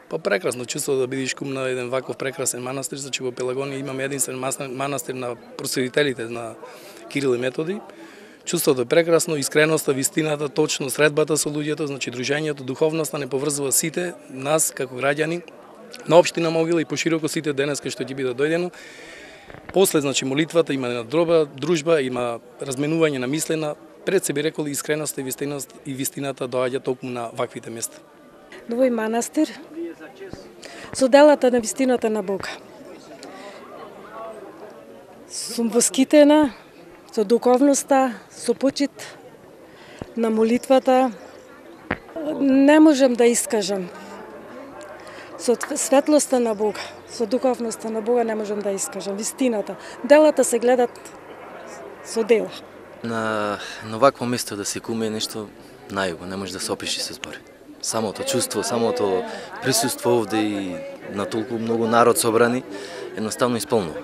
Па прекрасно чувство да бидеш кум на еден ваков прекрасен манастир, значи во Пелагонија имаме единствен манастир на просветителите на Кирил и Методи. Чувството е прекрасно, искреноста, вистината, точно средбата со луѓето, значи дружењето, духовноста не поврзува сите нас како граѓани на општина Могила и пошироко сите денеска што ќе биде дојдено. После, значи, молитвата има една дружба, има разменување на мислена, пред се би рекол искреноста и вистината доаѓа токму на ваквите места. На овој манастир со делата на вистината на Бога. Сум воскитена со духовноста, со почит на молитвата. Не можем да искажам. Со светлоста на Бога, со духовноста на Бога не можем да искажам. Вистината. Делата се гледат со дела. На вакво место да се куме е нешто најубаво, не може да се опиши со збори. Самото чувство, самото присуство овде и на толку многу народ собрани, едноставно исполнува.